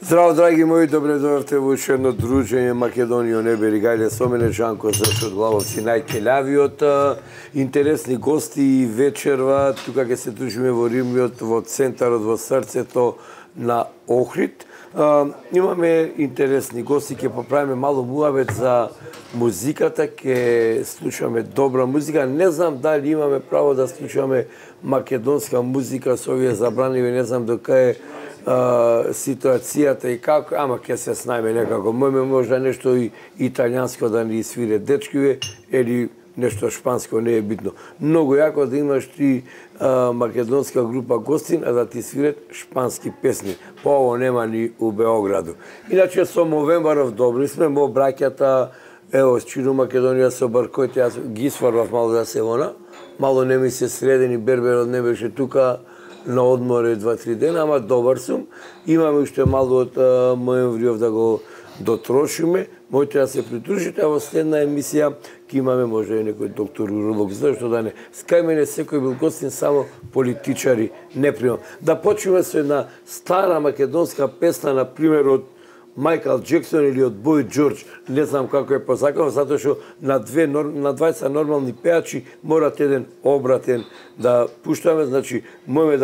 Здраво, драги мои, добре дојдовте во уште едно дружење Македонија не бери гајле со мене Жанко Зашот Главовци, најкелјавиот, интересни гости и вечерва, тука ќе се дружиме во Римјот, во центарот, во срцето на Охрид. Имаме интересни гости, ќе поправиме мало муабет за музиката, ќе слушаме добра музика. Не знам дали имаме право да слушаме македонска музика со овие забранливи, не знам дока е ситуацијата и како, ама ќе се снајме некако. Можда нешто и италијанско да ни свире дечкиве, или нешто шпанско, не е битно. Многу јако да имаш ти македонска група гостин, а да ти свират шпански песни. По ово нема ни у Београду. Иначе со Мовембаров добри сме, мо браќата, ево, Чину Македонија со Баркојте, јас ги сварвав мало да се вона, мало не ми се средени, Берберот не беше тука, на одморе 2-3 дена, ама добар сум. Имаме уште мало од Моемвриов да го дотрошиме. Моите да се придружите, а во следна емисија ќе имаме може и некој доктор уролог, зашто да не. Скај мене секој бил гостин, само политичари не примам. Да почнеме со една стара македонска песна, на пример од Майкл Джексон или од Бој Џорџ, не знам како е позакано, затоа што на 20 нормални пеачи морат еден обратен да пуштаме, значи можеме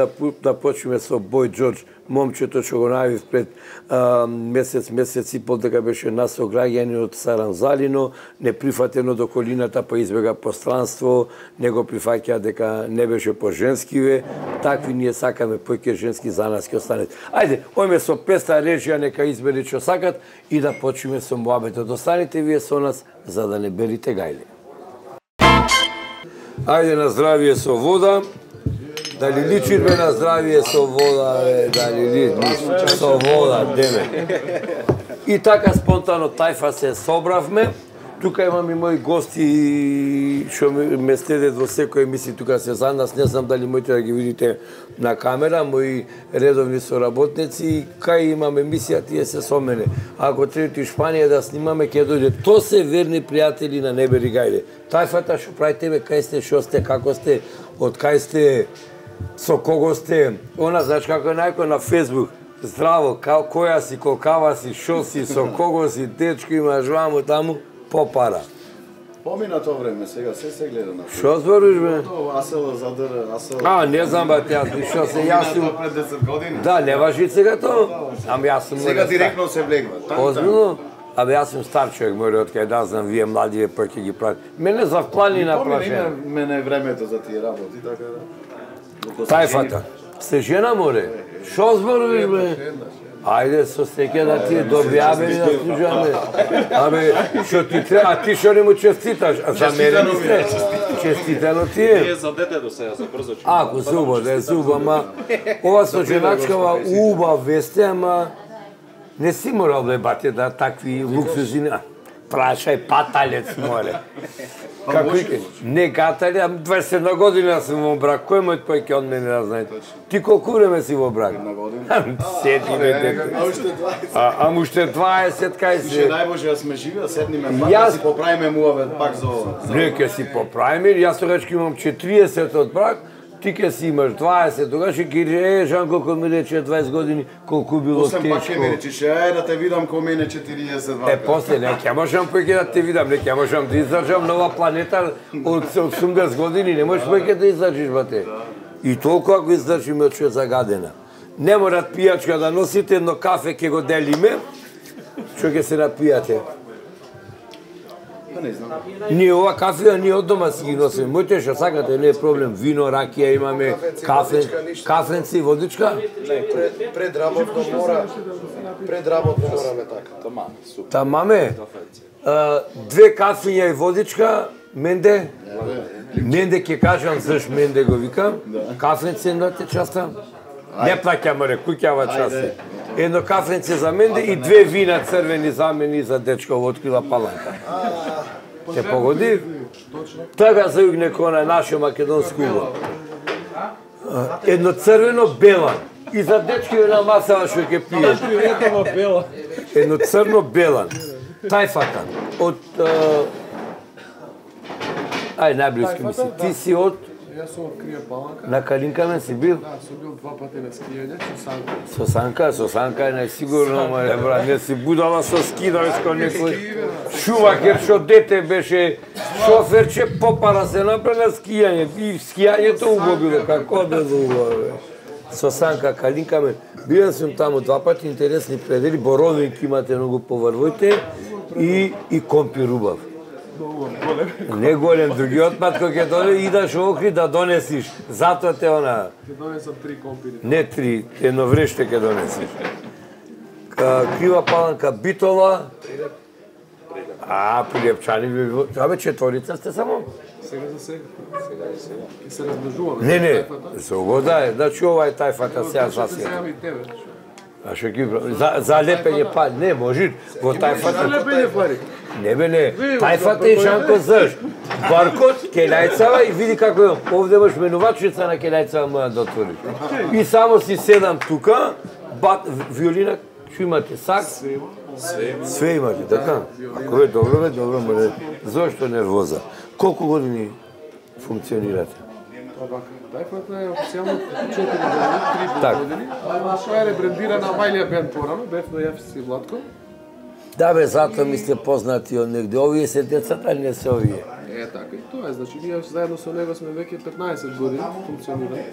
да почнеме со Бој Џорџ, момчето што го најавив пред месец и пол дека беше нас ограѓани од Саранзалино, неприфатено до колината, па избега пространство, не го прифаќа дека не беше по женскиве, такви ние сакаме поќе женски за нас ќе останат. Ајде, ојме со песна режија, нека избери што сакат и да почнеме со муабетот. Останете вие со нас за да не берите гајле. Ајде на здравие со вода. Дали личиме на здравие со вода, дали личиме со вода, деме. И така спонтано тајфа се собравме. Тука имам и мои гости што ме следат во секој емисија, тука се за нас, не знам дали можете да ги видите на камера, мои редовни соработници, кај имам емисија, тие се со мене. Ако требате Шпанија да снимаме, ќе дојде. То се верни пријатели на Небери гајле. Тајфата што правите, бе, кај сте, што сте, како сте, од кај сте, со кого сте, она, знаеш како е најко на Фейсбук, здраво, која си, колкава си, шо си, со кого си, дечко имаш ваму, таму, по пара. Помина тоа време, сега се гледа на. Шо збориш, бе? Асел задр, Асел. Не знам, бе, јас шо се, јас сум... Пред 10 години. Да, не важи сега тоа. Ам јас сум... Сега директно се влегва. Озбилно? Абе, јас сум стар човек, мој од кај да знам, вие младиве па ќе ги правите. Мене за планина прашање. Мене е времето за тие работи, така да. Тајфата. Сте жена, море? Шо зборуваш, бе? Ајде, со стеке да ти добјавени да служаме. Абе, шо ти треба, а ти шо не му честиташ? А за мене не сте? Честитано ти е? Не за детето сега, за брзо че. Ако зубо, да е зубо, ама ова со женачкава убав весте, ама не си морал бе, бате, да такви луксузи. Прашај паталец, море. Како ике? Не гатали, а 21 година сум во брак. Кој мојот појке од мене да знаете? Ти колку време си во брак? 1 година. Седи бе, дете. Ам уште 20, кај Ше се? најбоже да сме живи, да седниме пак, да си поправиме муавет пак за ова. Не, ке си поправиме, јас тогаш имам 40 од брак, ти ке си имаш 20, тогаш ќе ги Жанко кој ми рече 20 години, колку било После пак тешко. ќе ми речеш, да те видам кој мене 40 вака. После, не, ќе можам поќе да те видам, не ќе можам да издржам на оваа планета од 80 години, не можеш поќе да издржиш, бате. И толку ако издржиме од што е загадена. Не морат пијачка да носите, едно кафе ќе го делиме, што ќе се напијате. Не знам. Ние ова кафе, ние од дома си ги носиме. Моите што сакате, не е проблем. Вино, ракија имаме, кафенци, водичка. Пред работно мораме така. Тамаме. 2 кафиња и водичка, менде. Менде ќе кажам заш менде го викам. Кафенци едната часта. Не плаќа море, куќава части. Едно кафенце за менде и 2 вина црвени за мене и за дечко во открила паланка. Те погоди? Така зајугне кона наше македонско убо. Едно црвено бела. И за дечки на масава што ќе пие. Едно црно белан. Тајфата. Од... Ај, најблиски ми се. Ти си од Јас сум од Крија Паланка. На Калинкамен си бил? Да, сум бил 2 пати на скијање, Со Санка е најсигурно, мале брат, не си будала со ски да веш кој некој шувакер што дете беше шоферче, попара се напред на скијање и скијањето убаво било, како да убаво. Со Санка Калинкамен, бил сум таму 2 пати, интересни предели, боровинки имате многу поврвојте и компир убав. Не голем, другиот пат кој ќе дојде идаш во Охрид да донесиш. Затоа те она. Ќе донесам 3 компири. Не 3, едно вреште ќе донесиш. Крива Паланка Битола. Прилепчани ви. Абе четворица сте само? Сега за сега. Ќе се размножуваме. Не, се угода. Значи ова е тајфата сега сасија. Сега и тебе. А што ги за лепење пари, не може во тајфата. За лепење пари. Не бе не, тајфата и Жанко Заш. Баркот, Келајцава и види како е. Овде имаш менувачица на Келајцава моја да отвориш. И само си седам тука, виолина, што имате, сак? Све имате, така? Ако е добро, може. Зошто нервоза? Колку години функционирате? Тајфата е официјално 4 години, 3 години. Тоа е ребрендирана Мајлија бенд порано, бев на Јафис и Владко. Да бе, затоа ми сте познати од негде. Овие се децата, не се овие. Така и тоа е, значи ние заедно со него сме веќе 15 години функционираме.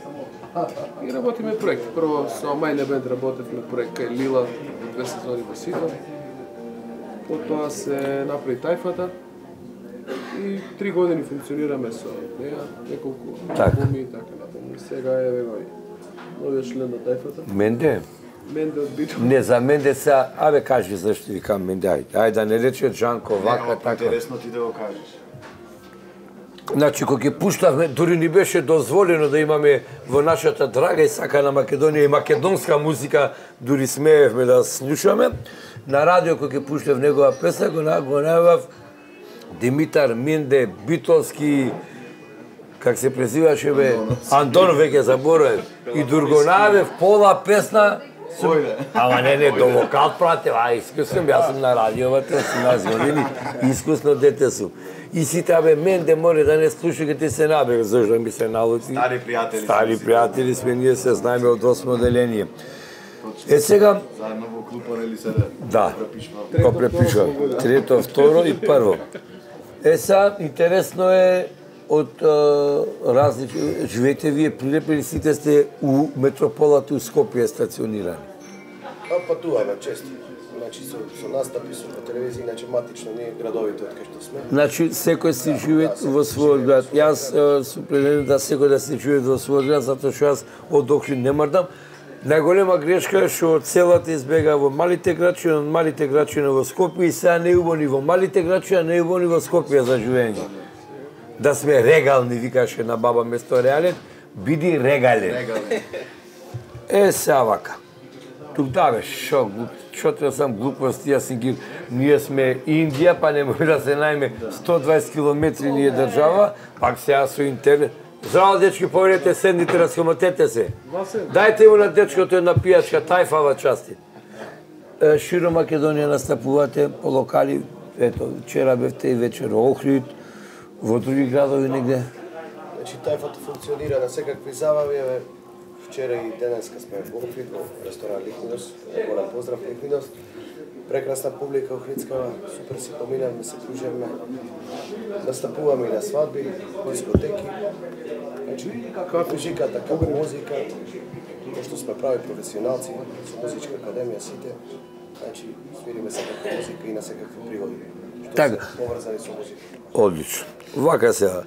И работиме проекти. Прво со Мајлија бенд работевме проект кај Лила, 2 сезони во Сидон. Потоа се направи тајфата. И 3 години функционираме со неа, неколку албуми и така натаму. Сега е новиот член на тајфата. Менде? Менде од Битола. Не, за Менде сега, абе кажи зашто викам Менде, ајде да не рече Жанко вака, така. Интересно ти да го кажеш. Значи, кога ќе пуштавме, дури ни беше дозволено да имаме во нашата драга и сакана Македонија и македонска музика, дури смеевме да слушаме. На радио кога ќе пуштав негова песна, го најавав Димитар Менде, Битолски, как се презиваше бе, Антон веќе заборавив. И Дургонавев пола песна, ама не, до вокал пратев, искусно, јас сум на радиовата, 18 години, искусно дете сум. И сите, абе, Менде море да не слуша, ке ти се набега, зашто ми се налути. Стари пријатели сме, ние се знаеме од 8 оделение. Сега... Заедно во клупа, нели се да, го препишува. Трето, второ и прво. Сега, интересно е од различни... Живеете вие прилепени, сите сте у метрополата у Скопје стационирани. Патуваме често. Значи со настапи со по телевизија, иначе матично ние градовите од кај што сме. Значи секој си живее во својот град. Јас сум определен да секој да си живее во својот град, затоа што јас од Охрид не мрдам. Најголема грешка е што целата избега во малите градчиња, од малите градчиња во Скопје и сега не убони во малите градчиња, не убони во Скопје за живење. Да сме регални, викаше на баба место реален, биди регален. Сега вака. Тук да бе, шо треба сам глупости, јас си ги... Ние сме Индија, па не може да се најме 120 километри ние држава, пак сега со интернет. Здраво, дечки, поверете, седните, расхомотете се. Дајте му на дечкото една пијачка, тајфава части. Широ Македонија настапувате по локали, ето, вчера бевте и вечер во Охрид, во други градови негде. Значи, тајфата функционира на секакви забави, вчера и денеска сме во Охрид, во ресторан Ликвидос, голем поздрав Ликвидос. Прекрасна публика охридскава, супер си поминавме, се кружевме, настапуваме и на свадби, дискотеки. Значи, како музиката, како музика, пошто сме прави професионалци со музичка академија сите, значи свириме секаква музика и на секакви пригоди, што се поврзани со музика. Одлично. Вака сега,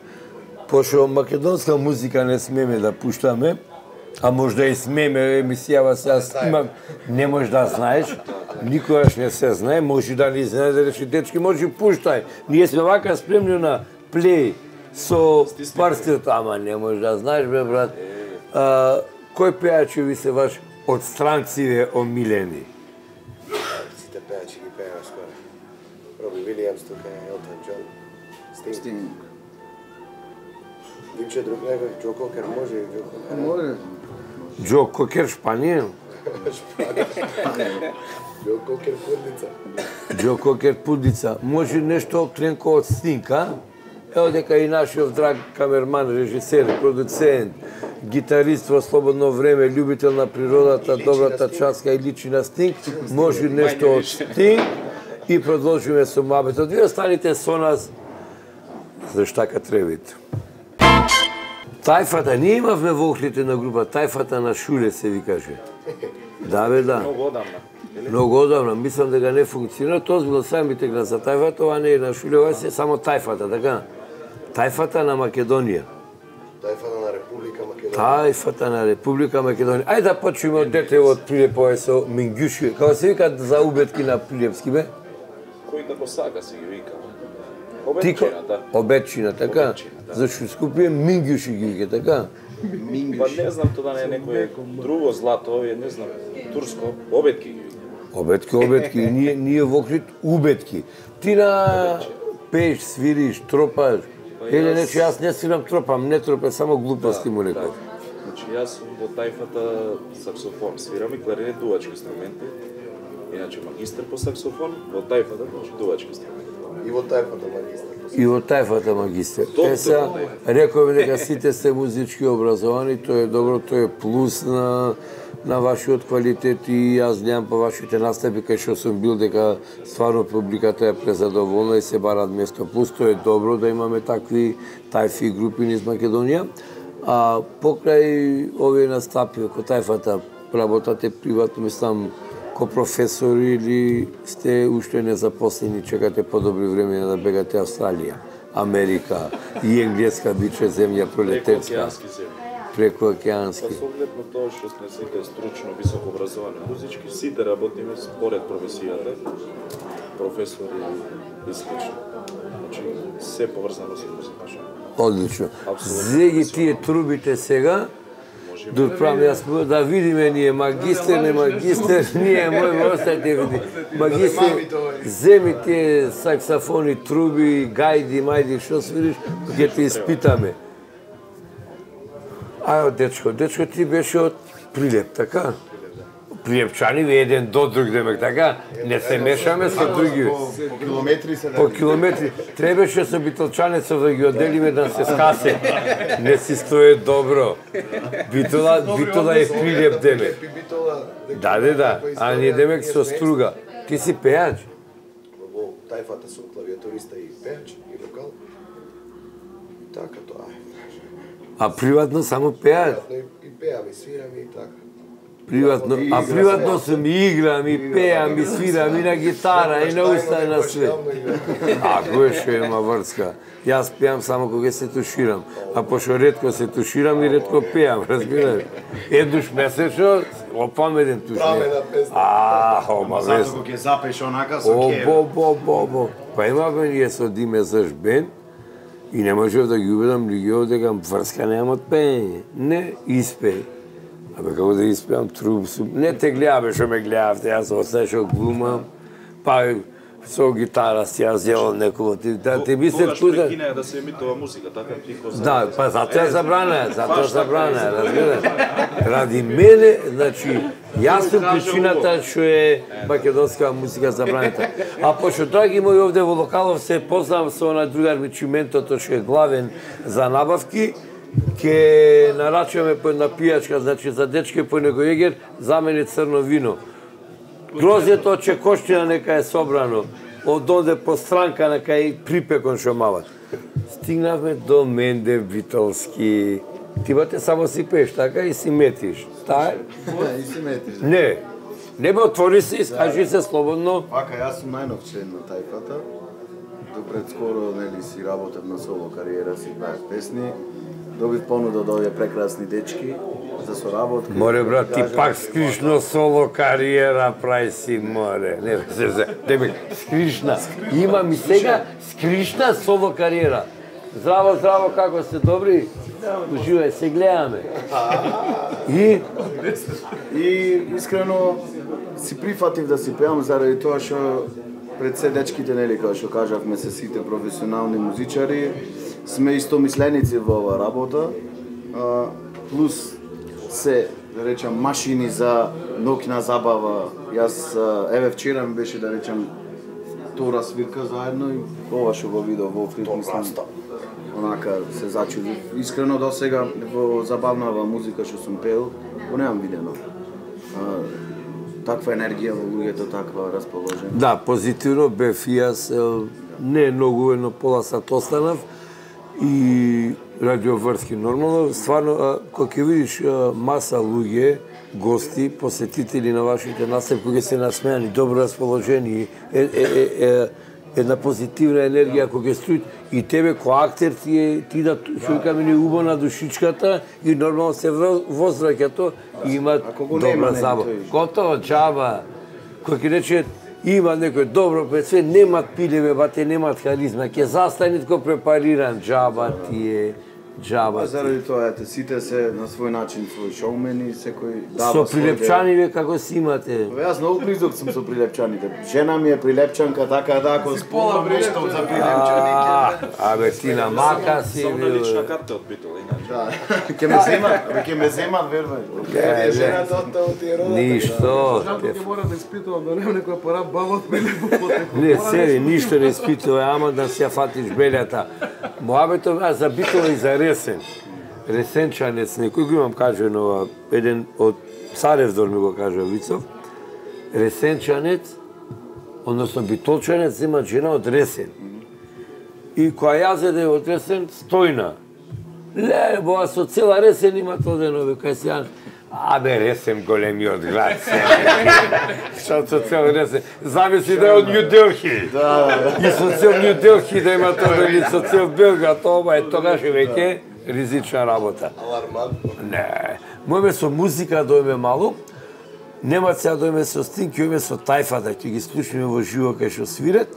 пошто македонска музика не смеме да пуштаме, а можда и смеме, емисијава сега снимам, не можеш да знаеш, никогаш не се знае, може да не знае да речи, дечки, може пуштај. Ние сме вака спремни на плей со парстилото, ама не можеш да знаеш, бе, брат. Кој пејачи ви се ваш од странциве омилени? Сите пејачи ги пееме скоро. Роби Вилијамс, тука е Елтон Џон, Стинг. Димче друг некој, Џо Кокер може и Џо Кокер. Може. Џо Кокер Шпанија? Џо Кокер Пудница. Џо Кокер Пудница. Може нешто кренко од Стинг, а? Ево дека и нашиот драг камерман, режисер, продуцент, гитарист во слободно време, љубител на природата, добрата часка и личи на Стинг, може нешто од Стинг и продолжиме со муабетот. Вие останите со нас за штака требите. Тајфата, ние имавме во Охридите на група, тајфата на Шуле се ви каже. Да бе, да. Многу одамна. Многу одамна, мислам дека не функционира, тоа било самите глас за тајфата, ова не е на Шуле, ова е само тајфата, така? Тајфата на Македонија. Тајфата на Република Македонија. Тајфата на Република Македонија. Ајде да почнеме од детево од Прилеп, ова со Мингјуши. Како се вика за убетки на прилепски, бе? Кој како сака си ги вика. Обетчината. Обетчина, така? Зашто Скопје Мингјуши ги вика, така? Па не знам тоа не е некој друго злато, овие не знам, турско, обетки ги вика. Обетки, ние во Охрид убетки. Ти на пееш, свириш, тропаш. Еле нече, јас не свирам тропам, не тропам, само глупости му некој. Значи јас сум во тајфата саксофон, свирам и кларинет, дувачки инструменти. Иначе магистар по саксофон, во тајфата, значи дувачки инструменти. И во тајфата магистар. И во тајфата магистар. Еса, рековме дека сите сте музички образовани, тоа е добро, тоа е плюс на вашиот квалитет и јас гледам по вашите настапи кај што сум бил дека стварно публиката е презадоволна и се барат место. Плюс тоа е добро да имаме такви тајфи групи низ Македонија. А покрај овие настапи како тајфата, работате приватно, мислам, ко професори или сте уште незапослени, чекате подобри времења да бегате Австралија, Америка и енглеска биче земја пролетарска. Преку океански. Па со оглед на тоа што сме сите стручно високо образовани музички, сите работиме според професијата, професори и слично. Значи, се поврзано со музика. Одлично. Зеги тие трубите сега, да отправам јас да видиме ние магистер, не магистер, ние мој остајте види. Магистер, земи тие саксофони, труби, гајди, мајди, што свириш, ќе те испитаме. Ајо, дечко, ти беше од Прилеп, така? Прилепчани ви еден до друг демек, така? Не се мешаме со други. По километри се По километри. Требаше со битолчанецов да ги оделиме да се скасе. Не си стои добро. Битола е Прилеп демек. Да. А ние демек со струга. Ти си пејач? Во тајфата сум клавиатуриста и пејач и вокал. Така тоа е. А приватно само пеач? И пеам, и свирам и така. Приватно сум и играм, и пеам, и свирам, и на гитара, и на уста, и на све. А кој што има врска? Јас пеам само кога се туширам, а пошто ретко се туширам и ретко пеам, разбираш? Еднаш месечно, опаметен туш. Прамена песна. Ома Затоа вест. кога ќе запеш онака со кев. Па имаме ние со Диме Заш бенд и не можев да ги убедам луѓето дека врска немаат пеење. Не, испеј. Абе, како да испеам труб, не те гледаме што ме гледавте, јас остајшо глумам, па со гитара си ја зело некој, те би се Тогаш прекинеа да се емитува музика, така ти ко Да, па затоа е забрана, разбираш. Ради мене, значи, јас сум причината што е македонска музика забраната. А пошто драги мои овде во локалов се познавам со на другар ми Чиментото што е главен за набавки, ке нарачаме по една пијачка, значи за дечке по него егер, за мене црно вино. Грозјето од Чекоштина нека е собрано, од онде по странка нека е припекон што мават. Стигнавме до Мендев Витолски. Ти бате само си пееш, така и си метиш. И си метиш. Не бе, отвори се, искажи се слободно. Вака, јас сум најнов член на тајфата. До пред скоро, нели, си работев на соло кариера, си пеев песни. Добив понуда од овие прекрасни дечки за соработка. Море, брат, ти пак скришно соло кариера прави си, море. Не, тебе, скришна. Имам и сега скришна соло кариера. Здраво, како сте добри? Уживај, се гледаме. И искрено си прифатив да си пеам заради тоа што пред се дечките, нели, како што кажавме, се сите професионални музичари, сме истомисленици во оваа работа, плюс се, да речам, машини за ноќна забава. Јас, еве вчера ми беше, да речам, втора свирка заедно и ова што го видов во Охрид, мислам, онака се зачудив. Искрено до сега во забавнава музика што сум пеел, го немам видено. Таква енергија во луѓето, таква расположение. Да, позитивно бев и јас, не многу, едно пола сат останав и радиоврски нормално. Стварно, кога ќе видиш маса луѓе, гости, посетители на вашите настапи, кои се насмеани, добро расположени, една позитивна енергија која ќе струи и тебе кој актер ти да шујкаме ни убо на душичката и нормално се возвраќа то и има добра забава. Готово џаба. Кој ќе рече има некој добро пред све, немат пилеве, бате, немат харизма, ќе застане тако препариран, џаба ти џаба. Заради тоа, сите се на свој начин свој шоумени, секој дава со прилепчаниве како си имате? Јас многу близок сум со прилепчаните. Жена ми е прилепчанка, така да ако пола времето за прилепчаните. Абе ти на мака си Само на лична карта од Битол, иначе. Да. Ќе ме земат, верувај. Жената од тие родата. Ништо. Жалко ќе мора да испитувам да нема некоја пора баба прилепо потекло. Не, сери, ништо не испитува, ама да си ја фатиш белјата. Моабето за Битола и за Ресен. Ресенчанец, некој го имам кажено, еден од Царевдор ми го кажа Вицов. Ресенчанец, односно битолчанец, има жена од Ресен. И која јазеде од Ресен, Стојна. Ле, боа со цела Ресен има тоденове, кај се абе, Ресен големиот град. Што со цел Ресен? Замисли да е од Нью Делхи. И со цел Нью Делхи да има тоа или со цел Белград, ова е тогаш веќе ризична работа. Алармантно. Не. Моеме со музика дојме малу. Нема сега дојме со Стинг, ќе со Тајфата, ќе ги слушнеме во живо кај што свират.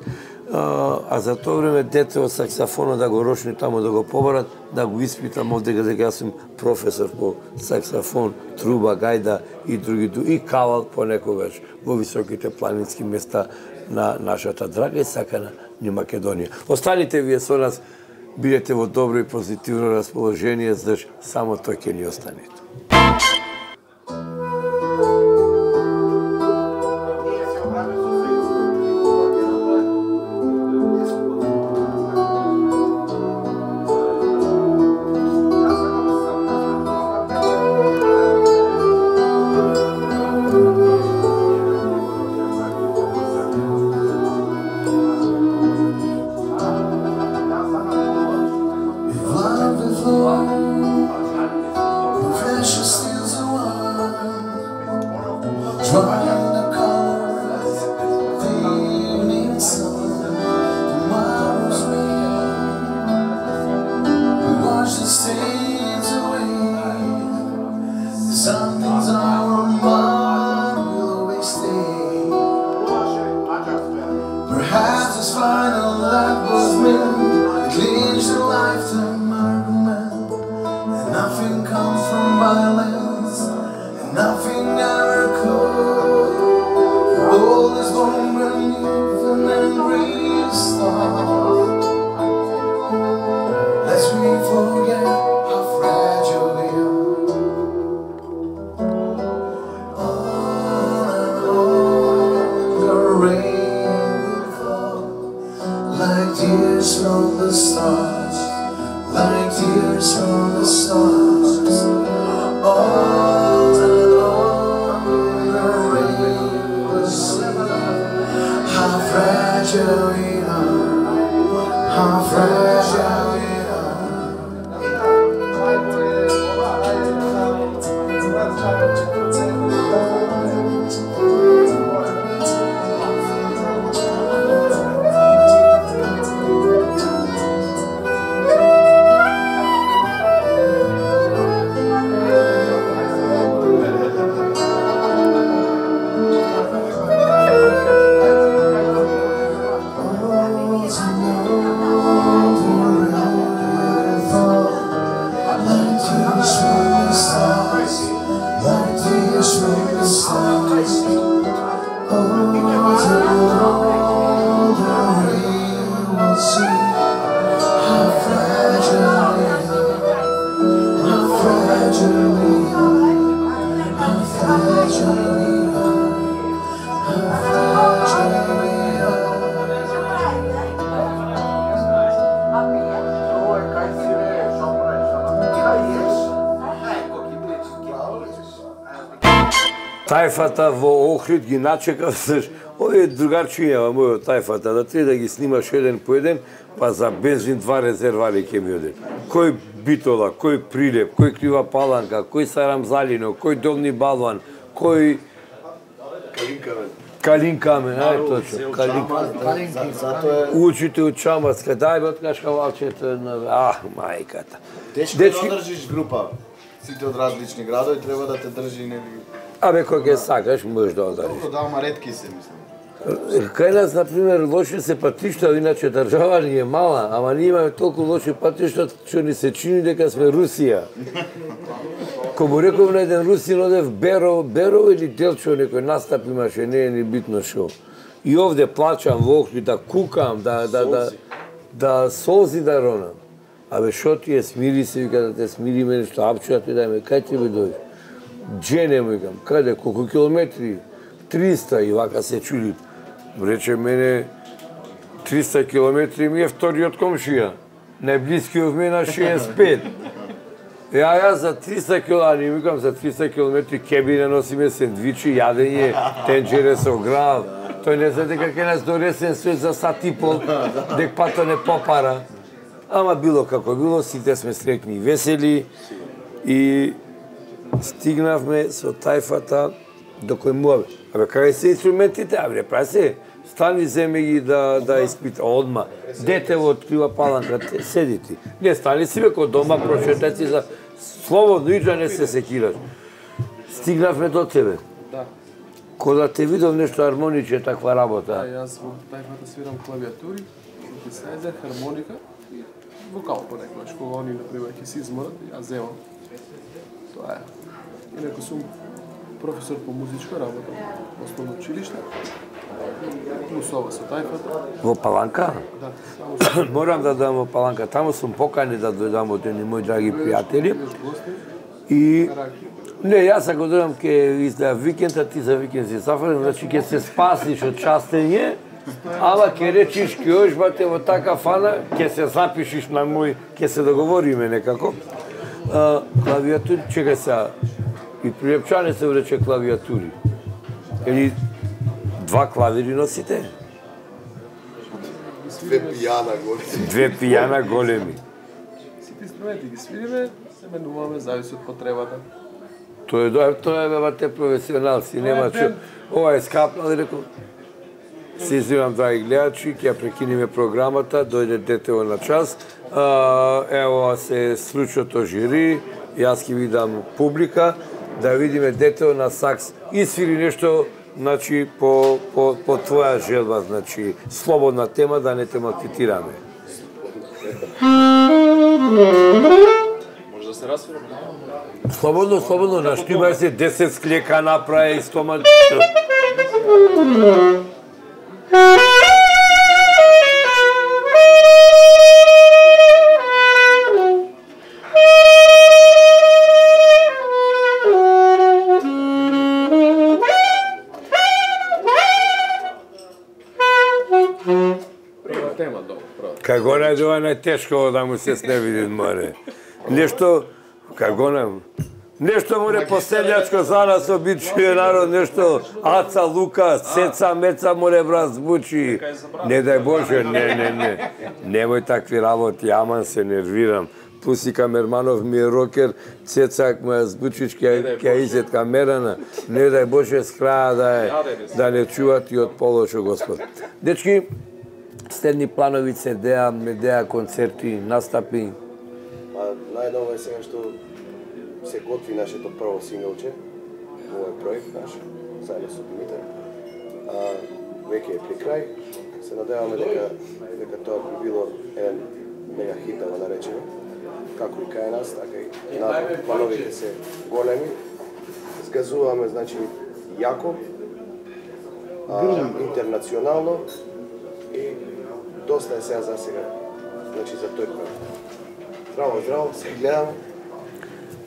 А за тоа време дете од саксофонот да го рошни таму да го побарат, да го испитам овде дека јас сум професор по саксофон, труба, гајда и други и кавал понекогаш во високите планински места на нашата драга и сакана ни Македонија. Останите вие со нас, бидете во добро и позитивно расположение, зашто само тој ќе ни остане. тајфата во Охрид ги начекав, овие другарчиња во мојот тајфата, да треба да ги снимаш еден по еден, па за бензин 2 резервари ќе ми оден. Кој Битола, кој Прилеп, кој Крива Паланка, кој Сарамзалино, кој Долни Балван, кој Калин Камен, ај точно, Калин Камен. Учите од Чамаска, дај бе откашка валчето, мајката. Тешко да држиш група, сите од различни градови, треба да те држи нели... Абе, кој ќе сакаш, можеш да одариш. Добро, да, ама ретки се, мислам. Кај нас, например, лоши се патишта, иначе држава ни е мала, ама ние имаме толку лоши патишта, што ни се чини дека сме Русија. Ко му реков на еден русин, одев Берово или Делчо, некој настап имаше, не е ни битно шо. И овде плачам во Охрид, да кукам, да солзи да ронам. Абе, шо ти е, смири се, вика да те смириме нешто, апчуа ти дајме, кај ти бе дојде? Джене му викам, каде, колку километри? 300, и вака се чуди. Рече мене, 300 километри ми е вториот комшија. Најблискиот ми е на 65. Ја за 300 километри, викам за 300 километри кеби не носиме сендвичи, јадење, тенџере со грал. Тој не знае дека ќе нас донесен свет за сат и пол, дек пата не попара. Ама било како било, сите сме среќни и весели и стигнавме со тајфата до кој му абе, кај се инструментите, абе, прави се, стани земи ги да испита, одма. Дете од Крива Паланка, седи ти. Не, стани си бе, ко дома, прочетай си за слободно иджа, не се секираш. Стигнавме до тебе. Да. Кога те видов нешто армониче, таква работа. Да, јас во тајфата свирам клавиатури, синтезајзер, хармоника и вокал понекогаш, кога они, например, ќе се изморат, јас земам. Тоа е. Инаку сум професор по музичка работа во основно училиште. Плюс ова со тајфата. Во Паланка? Да. Морам да дам во Паланка. Таму сум покани да дојдам од едни мои драги пријатели. И не, јас ако дојдам ќе издаа викенд, а ти за викенд си зафрлен, значи ќе се спасиш од частење, ама ќе речиш ќе оиш бате во така фана, ќе се запишиш на мој, ќе се договориме некако. Клавиатури, чекај сега. И прилепчане се урече клавиатури. Или 2 клавири носите? 2 пијана големи. 2 пијана големи. Сите инструменти ги свириме, се менуваме, зависи од потребата. Тоа е бе професионалци, нема чу. Ова е скапнал и рекол, се извинам, драги гледачи, ќе прекиниме програмата, дојде детево на час. Ево се случото жири, јас ќе ви дам публика, да видиме детево на сакс и свири нешто, значи, по твоја желба, значи, слободна тема, да не те малтретираме. Може да се расфираме? Слободно, наштимај се 10 склека направи и стома... Кај го најдува најтешко да му се сневиди, море. Нешто, кај го нешто море поселјачко за нас обичај народ, нешто Аца, Лука, Сеца, Меца море брат звучи. Не дај Боже, не. Немој такви работи, аман се нервирам. Пуси Камерманов ми е рокер, Цецак моја звучич ќе изет камерана. Не дај Боже с краја да не чуват и од полошо Господ. Дечки, следни планови се деа концерти, настапи? Најново е сега што се готви нашето прво синглче, овој проект наш, заедно со Димитар. Веќе е при крај. Се надеваме дека тоа би било еден мега хит, да го наречеме. Како и кај нас, така и надвор. Плановите се големи. Згазуваме, значи, јако, интернационално и доста е сега за сега, значи за тој проект. Здраво, се гледаме.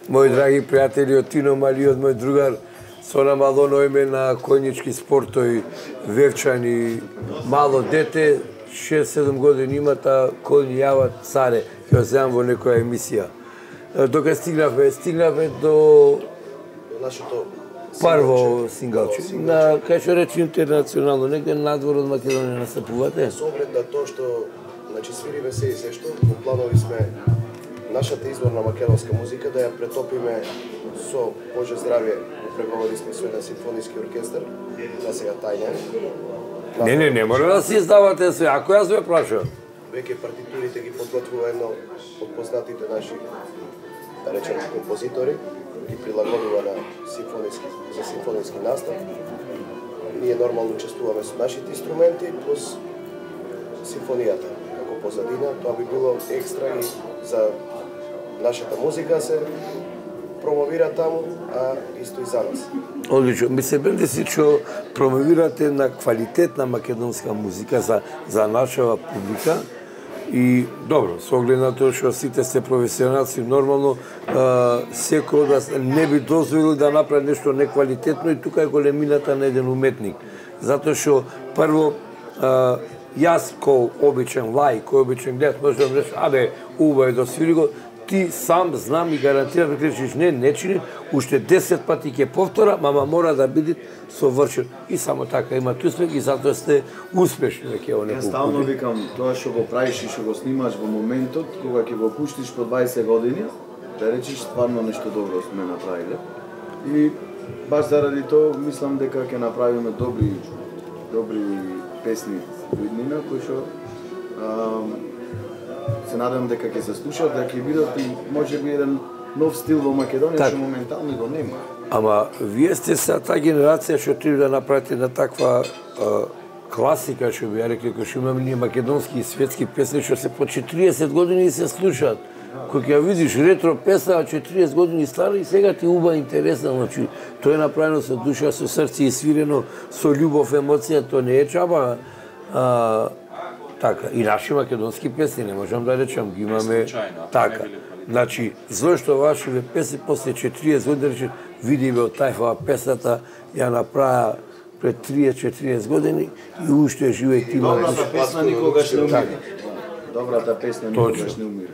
Мои драги пријатели, од Тино Малиот, мој другар, со намалено име на коњички спортови, Вевчани, мало дете, 6-7 години имата, коњи јават царе, ќе земам во некоја емисија. Дока стигнавме до нашето Прво сингалче. На кај што речи интернационално, негде надвор од Македонија настапувате? Со оглед на тоа што свириме се и се што, во планови сме нашата изворна македонска музика да ја претопиме со Боже здравје, преговори сме со еден симфониски оркестар, за сега тајна. Не мора да си издавате све, ако јас ве прашам. Веќе партитурите ги подготвува едно од познатите наши, да речем, композитори, ги прилагодува за симфониски настав. Ние нормално учествуваме со нашите инструменти, плюс симфонијата како позадина. Тоа би било екстра и за нашата музика се промовира таму, а исто и за нас. Одлично. Ми се бенде си што промовирате на квалитетна македонска музика за нашава публика. И добро, со оглед на тоа што сите сте професионалци, нормално секој од вас не би дозволил да направи нешто неквалитетно и тука е големината на еден уметник. Затоа што прво јас кој обичен лаик, кој обичен гледат, може да речеш, абе, убаво да свири го, ти сам знам и гарантирам да кречиш не чини, уште 10 пати ќе повтора, мама мора да биде совршен. И само така имат успех и затоа сте успешни веќе во некој. Јас стално викам, тоа што го правиш и што го снимаш во моментот, кога ќе го пуштиш по 20 години, да речиш стварно нешто добро сме направиле. И баш заради тоа мислам дека ќе направиме добри песни во иднина кои што се надевам дека ќе се слушаат, дека ќе бидат и можеби еден нов стил во Македонија што моментално го нема. Ама вие сте са таа генерација што треба да направите на таква класика, што би ја рекли, кој што имаме ние македонски и светски песни што се по 40 години и се слушаат. Кој ќе видиш ретро песна 40 години стара и сега ти уба интересна, значи тоа е направено со душа, со срце и свирено со љубов, емоција, тоа не е чаба. Така, и наши македонски песни, не можам да речам, ги имаме така. Значи, зошто вашите песни после 40 години рече, види бе од тајфава песната, ја направа пред 30-40 години и уште живе и ти Добрата песна никогаш не умира. Добрата песна никогаш не умира.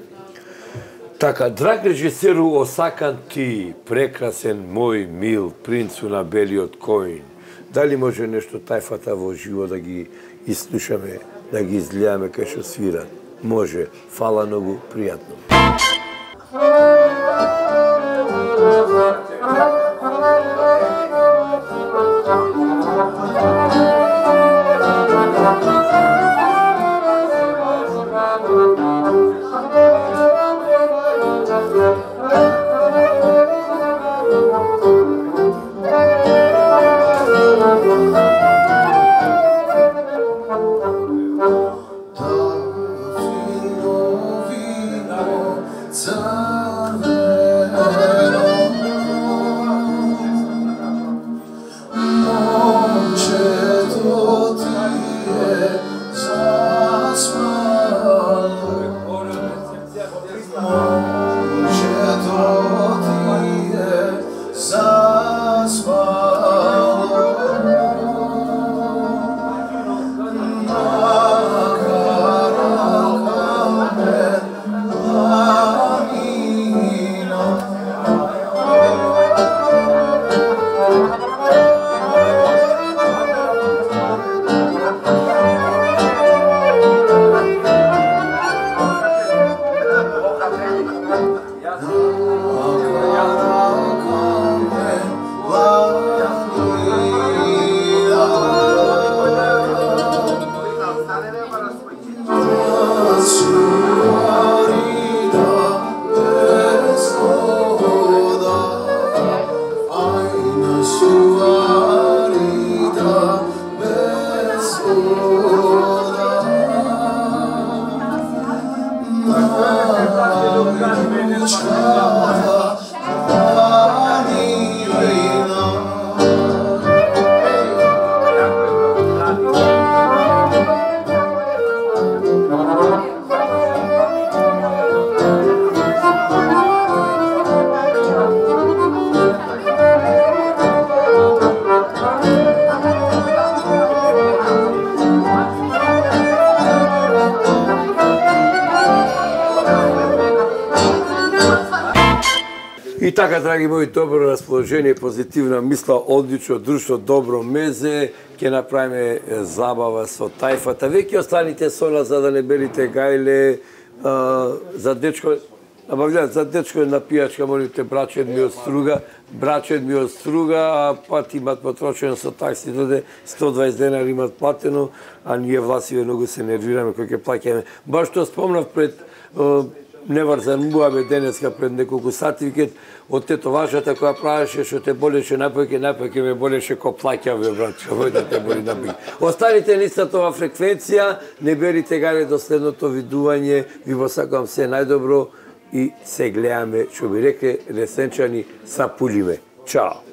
Така, драг режисеру, осакан ти, прекрасен мој мил, принцу на белиот коин. Дали може нешто тајфата во живо да ги изслушаме, да ги изгледаме кај што свират? Може. Фала многу, пријатно. И така, драги мои, добро расположение, позитивна мисла, одлично друштво, добро мезе, ќе направиме забава со тајфата. Веќе останите со нас за да не берите гајле, за дечко, за дечко на пијачка, молите, брачет ми од Струга, а пат имат потрошено со такси, доде 120 денари имат платено, а ние власиве многу се нервираме кој ќе плаќаме. Баш што спомнав пред неврзан муабе денеска пред неколку сати, викет, од тетоважата која правеше, што те болеше напојке ме болеше ко плаќаве, брат, што да те боли напојке. Останите листата ова фреквенција, не берите гајле до следното видување, ви го сакам се најдобро и се гледаме, што би рекле, ресенчани, са пулиме. Чао!